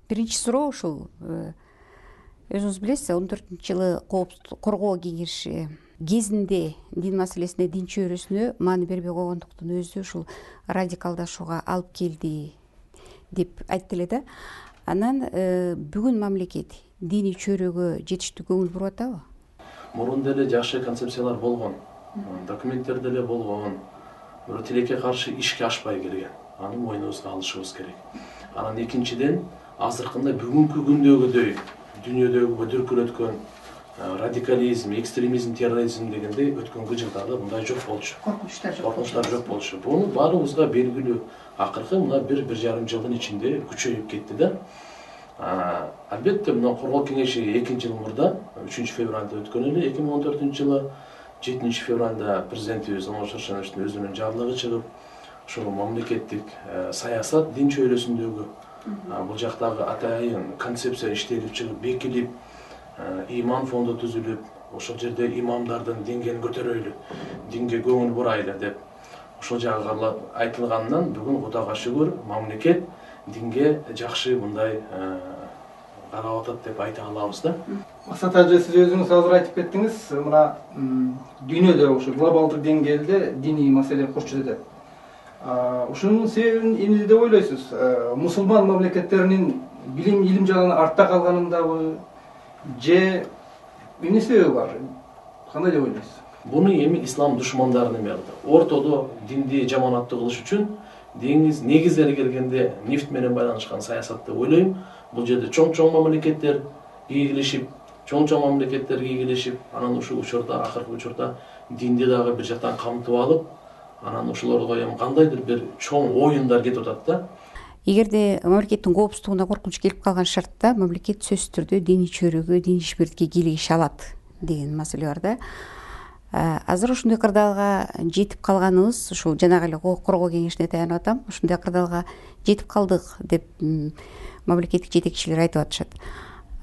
Биринчи суроо ушул өзүңүз билесиз, 14-жылы Коопсуздук коргоо кеңеши кезинде дин маселесине, дин чөйрөсүнө маани бербей койгондуктун өзү ушул радикалдашууга алып келди деп айтты эле да. Анан бүгүн мамлекет диний чөйрөгө жетиштүү көңүл буруп атабы? Мурун деле жакшы концепциялар болгон, документтер деле болгон, бирок тилекке каршы ишке ашпай келген. Аны мойнубузга алышыбыз керек. Анан экинчиден, азыркында бүгүнкү күндөгүдөй дүйнөдөгү дүркүрөткөн радикализм, экстремизм, терроризм дегендей өткөнгү жылдары мындай жок болчу. Коркунучтар жок болчу. Буну баарыбызга белгилүү. Акыркы мына 1,5 жылдын ичинде күчөйүп кетти да. Албетте, мына коргоо кеңеши 2 жыл мурда 3 февралда өткөн эле, 2014-жылы 7 февралда президентибиз Омар Шаршеновичтин өзүнүн жарлыгы чыгып, ошол мамлекеттик саясат дин чөйрөсүндөгү бул жактагы атайын концепция иштелип чыгып, бекилип, иман фонду түзүлүп, ошол жерде имамдардын деңгээлин көтөрөйлү, динге көңүл бурайлы деп ошол жагы айтылганынан бүгүн Кудайга шүгүр мамлекет динге жакшы мындай карап атат деп айта алабыз да. Максат ажы, сиз өзүңүз азыр айтып кеттиңиз, мына дүйнөдө ошо глобалдык деңгээлде диний маселе кош жетет. Ушунун себебин эмне деп ойлойсуз? Мусулман мамлекеттеринин илим жагынан артта калганындабы, же эмне себеби бар? Кандай деп ойлойсуз? Буну эми ислам душмандары неме кылды. Ортодо динди жаманаттуу кылыш үчүн негиздери келгенде нефт менен байланышкан саясат деп ойлойм. Бул жерде чоң мамлекеттер ийгилешип, анан ушул учурда, акыркы учурда динди дагы бир жактан камтып алып, анан ошолорго эми кандайдыр бир чоң оюндар кетип атат да. Эгерде мамлекеттин коопсуздугуна коркунуч келип калган шартта мамлекет сөзсүз түрдө диний чөйрөгө, диний ишбирдикке кийлигише алат деген маселе бар да. Азыр ушундай кырдаалга жетип калганыбыз, ушул жанагы эле коргоо кеңешине таянып атам, ушундай кырдаалга жетип калдык деп мамлекеттик жетекчилер айтып атышат.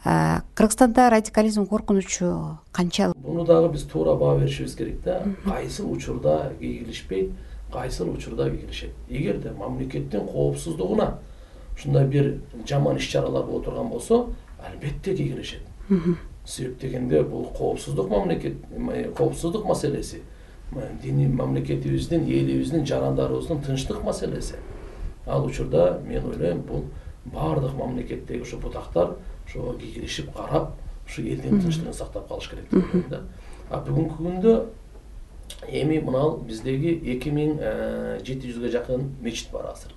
Кыргызстанда радикализм коркунучу канчалык? Буну дагы биз туура баа беришибиз керек да. Кайсыл учурда кийгилишпейт, кайсыл учурда кийгилишет. Эгерде мамлекеттин коопсуздугуна ушундай бир жаман иш-чаралар боло турган болсо, албетте кийгилишет. Себеп дегенде бул коопсуздук маселеси, диний мамлекетибиздин, элибиздин, жарандарыбыздын тынчтык маселеси. Ал учурда мен ойлойм, бул баардык мамлекеттеги ошо бутактар ошо кийгилишип карап, ушу элдин тынчтыгын сактап калыш керек деп ойлойм да. Бүгүнкү күндө эми мына биздеги 2700ге жакын мечит бар азыр.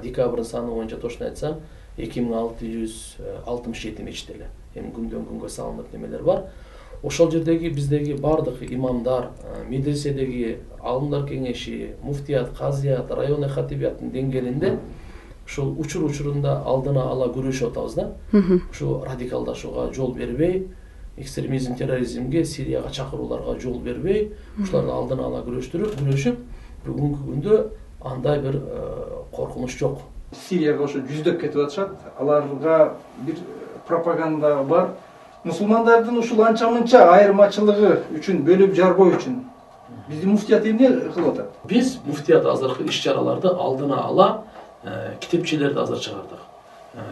Декабрдын саны боюнча точно айтсам 2667 мечит эле. Эми күндөн күнгө салынып немелер бар. Ошол жердеги биздеги бардык имамдар, медреседеги алымдар кеңеши, муфтият, казият, районный хатибияттын деңгээлинде ушул учурунда алдына ала күрөшүп атабыз да. Ушу радикалдашууга жол бербей, экстремизм, терроризмге, Сирияга чакырууларга жол бербей, ушуларды алдына ала күрөшүп, бүгүнкү күндө андай бир коркунуч жок. Сирияга ошо жүздөп кетип атышат. Аларга бир пропаганда бар. Мусулмандардын ушул анча-мынча айырмачылыгы үчүн, бөлүп жарбоо үчүн биздин муфтият эмне кылып атат? Биз муфтият азыркы иш-чараларды алдына ала китепчелерди азыр чыгардык.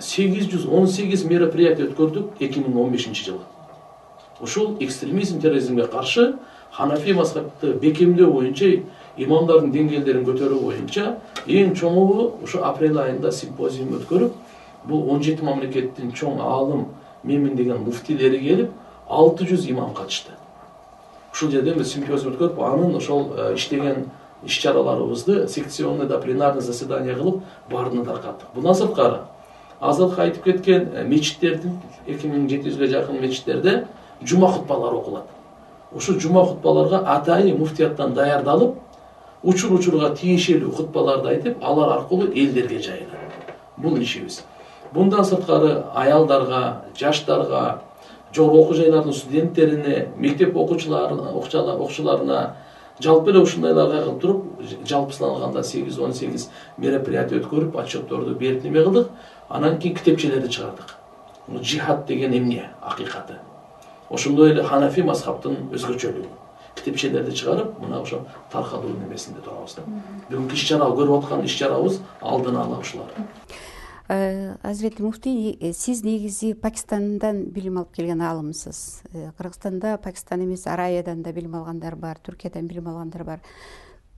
818 мероприятие өткөрдүк 2015-жылы. Ушул экстремизм, терроризмге каршы Ханафи мазхабты бекемдөө боюнча, имамдардын деңгээлдерин көтөрүү боюнча эң чоңу ушу апрель айында симпозиум өткөрүп, бул 17 мамлекеттин чоң аалым менмин деген муфтилери келип, 600 имам катышты. Ушул жерден биз симпозиум өткөрүп, анын ошол иштеген иш-чараларыбызды секционный да пленарный заседание кылып, баарына таркаттык. Бундан сырткары, азыркы айтып кеткен мечиттердин 2700ге жакын мечиттерде жума хутбалары окулат. Ушу жума хутбаларга атайын муфтияттан даярдалып, учурга тиешелүү хутбаларды айтып, алар аркылуу элдерге жайылат. Бул ишибиз. Bundan sırtkarı ayaldarga, жаштарга, жогорку окуу жайлардын студенттерине, мектеп окуучуларына жалпы эле ушундайларга кылып туруп, жалпысын алганда 8-18 мероприятие өткөрүп, отчетторду берип неме кылдык. Анан кийин китепчелерди чыгардык. Жихад деген эмне, акыйкаты. Ошондой эле Ханафи мазхабтын өзгөчөлүгү. Китепчелерди чыгарып, мына ошо таркалуу немесинде турабыз да. Бүгүнкү иш-чара көрүп аткан иш-чарабыз алдын ала ушулар. Азирети муфтий, сиз негизи Пакистандан билим алып келген аалымсыз. Кыргызстанда, Пакистан эмес, Араядан да билим алгандар бар, Түркиядан билим алгандар бар.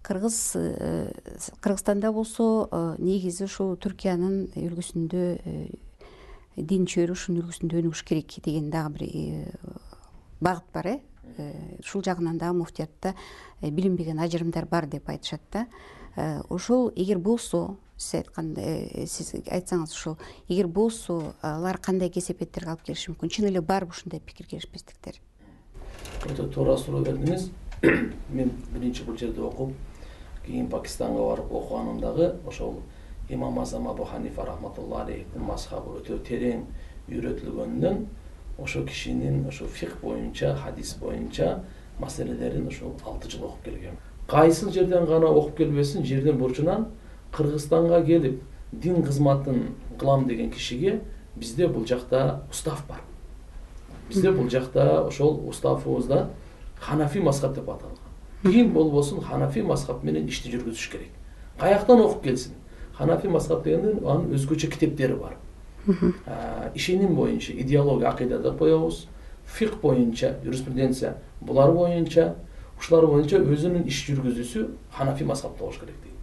Кыргызстанда болсо негизи ушул Түркиянын үлгүсүндө дин чөйрү ушунун үлгүсүндө өнүгүш керек деген дагы бир багыт бар. Ушул жагынан дагы муфтиятта билинбеген ажырымдар бар деп айтышат да. Ошол эгер болсо, сиз айтсаңыз, ушул эгер болсо, алар кандай кесепеттерге алып келиши мүмкүн? Чын эле барбы ушундай пикир-керишпестиктер? Өтө туура суроо бердиңиз. Мен биринчи бул жерде окуп, кийин Пакистанга барып окуганымдагы ошол имам Азам Абу Ханифа рахматуллахи алейхтин мазхабы өтө терең үйрөтүлгөндөн ошо кишинин ошо фикх боюнча, хадис боюнча маселелерин ошол 6 жыл окуп келгем. Кайсыл жерден гана окуп келбесин, жердин бурчунан Кыргызстанга келип дин кызматын кылам деген кишиге бизде бул жакта устав бар. Бизде бул жакта ошол уставыбызда Ханафи мазхаб деп аталган. Ким болбосун Ханафи мазхаб менен ишти жүргүзүш керек. Каяктан окуп келсин. Ханафи мазхаб дегенде анын өзгөчө китептери бар. Ишеним боюнча идеология, акыйда деп коебуз. Фикх боюнча юриспруденция, булар боюнча, ушулар боюнча өзүнүн иш жүргүзүүсү Ханафи мазхабта болуш керек дейт.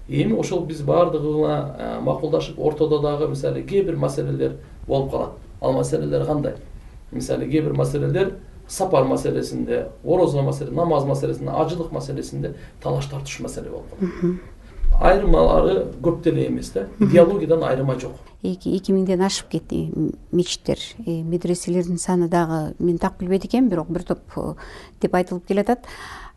Эми ошол биз баардыгына макулдашып, ортодо дагы мисалы кээ бир маселелер болуп калат. Ал маселелер кандай? Мисалы кээ бир маселелер сапар маселесинде, орозо маселесинде, намаз маселесинде, ажылык маселесинде талаш тартыш маселе болуп калат. Айрымалары көп деле эмес да. Идеологиядан айрыма жок. 2000ден ашып кетти мечиттер, медреселердин саны дагы мен так билбейт экенмин, бирок бир топ деп айтылып келатат.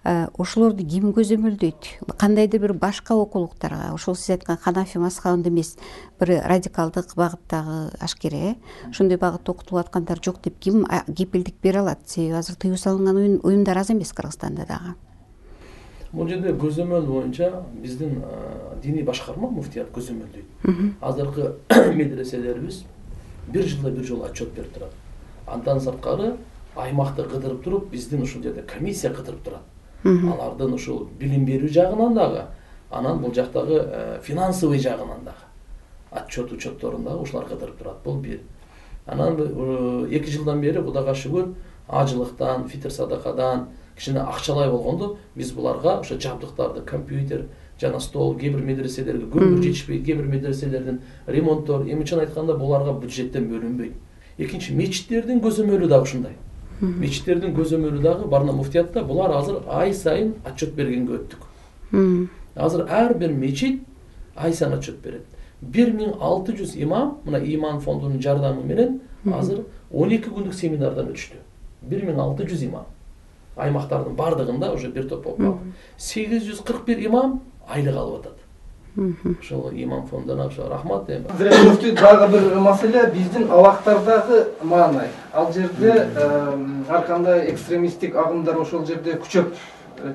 Ошолорду ким көзөмөлдөйт? Кандайдыр бир башка окуулуктарга, ошол сиз айткан Ханафи мазхабында эмес, бир радикалдык багыттагы ашкере, ошондой багытта окутуп аткандар жок деп ким кепилдик бере алат? Себеби азыр тыюу салынган уюмдар аз эмес Кыргызстанда дагы. Бул жерде көзөмөл боюнча биздин диний башкарма муфтият көзөмөлдөйт. Азыркы медреселерибиз бир жылда бир жолу отчет берип турат. Андан сырткары аймакты кыдырып туруп, биздин ушул жерде комиссия кыдырып турат. Алардын ушул билим берүү жагынан дагы, анан бул жактагы финансовый жагынан дагы учетторун дагы ушулар кыдырып турат. Бул бир. Анан 2 жылдан бери Кудайга шүгүр, ажылыктан, фитр садакадан кичине акчалай болгондо биз буларга ошо жабдыктарды, компьютер жана стол, кээ бир медреселерге көмүр жетишпейт, кээ бир медреселердин ремонттор, эми чын айтканда буларга бюджеттен бөлүнбөйт. Экинчи, мечиттердин көзөмөлү дагы ушундай. Мечиттердин көзөмөлү дагы барна муфтиятта булар азыр ай сайын отчет бергенге өттүк. Азыр ар бир мечит ай сайын отчет берет. 1600 имам, мына иман фондунун жардамы менен азыр 12 күндүк семинардан өтүштү. 1600 имам. Аймактардын бардыгында уже бир топ окуп. 841 имам айлык алып атат. Ошол имам фондуна ошо рахмат эми. Муфтий, дагы бир маселе биздин абактардагы маанай. Ал жерде ар кандай экстремисттик агымдар ошол жерде күчөп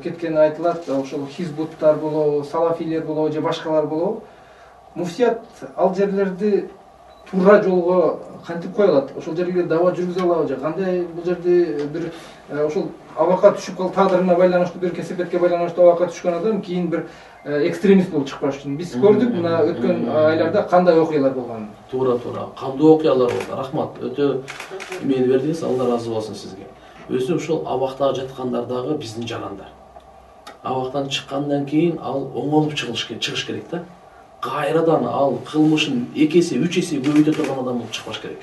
кеткени айтылат. Ошол хизбуттар болобу, салафилер болобу же башкалар болобу. Муфтият ал жерлерди туура жолго кантип кое алат? Ошол жерге даава жүргүзө алабы же кандай? Бул жерде бир ошол абакка түшүп калып, тагдырына байланыштуу, бир кесепетке байланыштуу абакка түшкөн адам кийин бир экстремист болуп чыкпаш үчүн. Биз көрдүк мына өткөн айларда кандай окуялар болгонун. Туура. Кандуу окуялар болду. Рахмат. Өтө эмени бердиңиз, Алла разы болсун сизге. Өзү ушул абактагы жаткандар дагы биздин жарандар. Абактан чыккандан кийин ал оңолуп чыгыш керек да. Кайрадан ал кылмышын 2 эсе, 3 эсе көбөйтө турган адам болуп чыкпаш керек.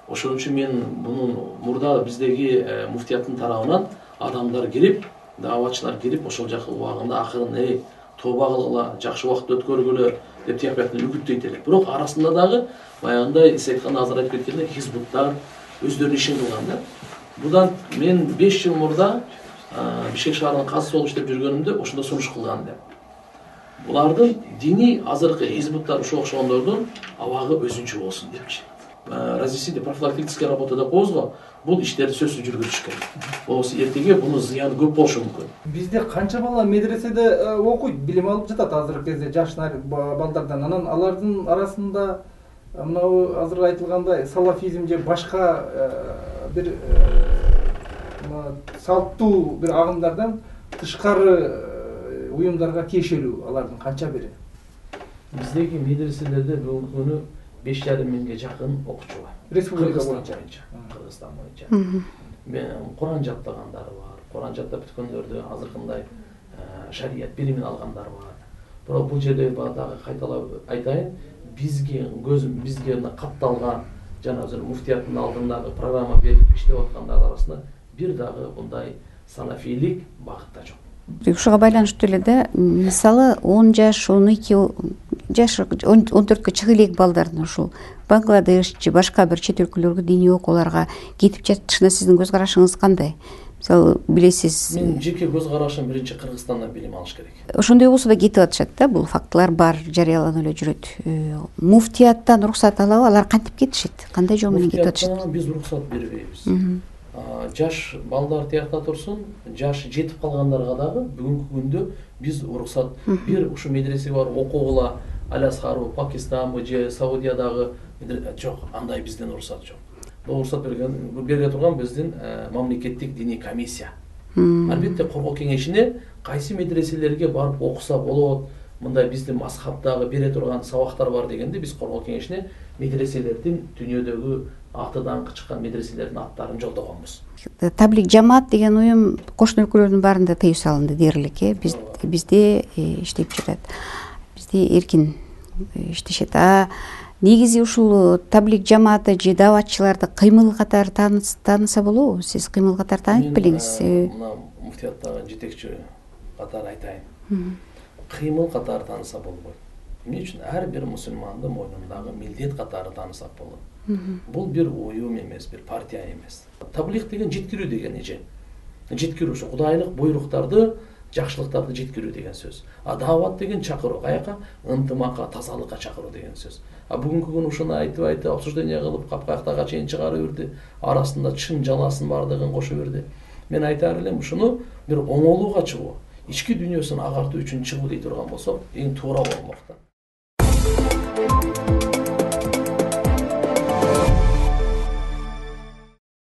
Ошон үчүн мен мунун мурда биздеги муфтияттын тарабынан адамдар келип, дааватчылар келип, ошол жакка убагында акырын тооба кылгыла, жакшы убакыт өткөргүлө деп тияктан үгүттөйт элек. Бирок арасында дагы баягындай сиз айтканда азыр айтып кеткендей хизбуттар өздөрүнүн ишин кылган да. Будан мен 5 жыл мурда Бишкек шаарынын казысы болуп иштеп жүргөнүмдө ошондо сунуш кылган да. Булардын дини азыркы хизбуттар ушул окшогондордун абагы өзүнчө болсун депчи. Разъяснительная профилактическая работа деп коебуз го, бул иштерди сөзсүз жүргүзүш керек. Болбосо эртеге мунун зыяны көп болушу мүмкүн. Бизде канча бала медреседе окуйт, билим алып жатат азыркы кезде жаш балдардан. Анан алардын арасында мына азыр айтылгандай салафизм же башка бир салттуу бир агымдардан тышкары уюмдарга тиешелүү алардын канча бири? Биздеги медреселерде бүгүнкү күнү 5,5 миңге жакын окуучу бар. Республика Кыргызстан боюнча. Куран жаттагандары бар. Куран жаттап бүткөндөрдү азыркындай шарият билимин алгандар бар. Бирок бул жерде дагы кайталап айтайын, бизге мына катталган жана азыр муфтияттын алдындагы программа берип иштеп аткандар арасында бир дагы мындай санафийлик багытта жок. Ушуга байланыштуу эле да, мисалы 10 жаш, 12 жаш, 14кө чыга элек балдардын ушул Бангладеш же башка бир чет өлкөлөргө диний окууларга кетип жатышына сиздин көз карашыңыз кандай? Мисалы билесиз. Мен жеке көз карашым биринчи Кыргызстандан билим алыш керек. Ошондой болсо да кетип атышат да, бул фактылар бар, жарыяланып эле жүрөт. Муфтияттан уруксат алабы? Алар кантип кетишет? Кандай жол менен кетип атышат? Биз уруксат бербейбиз. Жаш балдар тиякта турсун, жаш жетип калгандарга дагы бүгүнкү күндө биз уруксат бир ушу медресеге барып окугула, Алясхарбы, Пакистанбы же Саудиядагы жок, андай бизден уруксат жок. Бул уруксат бере турган биздин мамлекеттик диний комиссия. Албетте коргоо кеңешине кайсы медреселерге барып окуса болот, мындай биздин мазхабтагы бере турган сабактар бар дегенде биз коргоо кеңешине медреселердин дүйнөдөгү аты даңкы чыккан медреселердин аттарын жолдогонбуз. Таблик жамаат деген уюм кошуна өлкөлөрдүн баарында тыюу салынды дээрлик, бизде иштеп жатат. Бизде эркин иштешет. Негизи ушул таблик жамааты же дааватчыларды кыймыл катары тааныса болобу? Сиз кыймыл катары таанып белиңиз. Мына муфтияттагы жетекчи катары айтайын. Кыймыл катары тааныса болбойт. Эмне үчүн? Ар бир мусулмандын мойнундагы милдет катары таанысак болот. Бул бир уюм эмес, бир партия эмес. Таблик деген жеткирүү деген эже. Жеткирүү ушу кудайлык буйруктарды, жакшылыктарды жеткирүү деген сөз. Даават деген чакыруу, каяка? Ынтымакка, тазалыкка чакыруу деген сөз. Бүгүнкү күнү ушуну айтып обсуждение кылып, капкактага чейин чыгарып берди. Арасында чын жаласын бардыгын кошо берди. Мен айтаар элем, ушуну бир оңолууга чыгуу, ички дүйнөсүн агартуу үчүн чыгуу дей турган болсок, эң туура болмок да.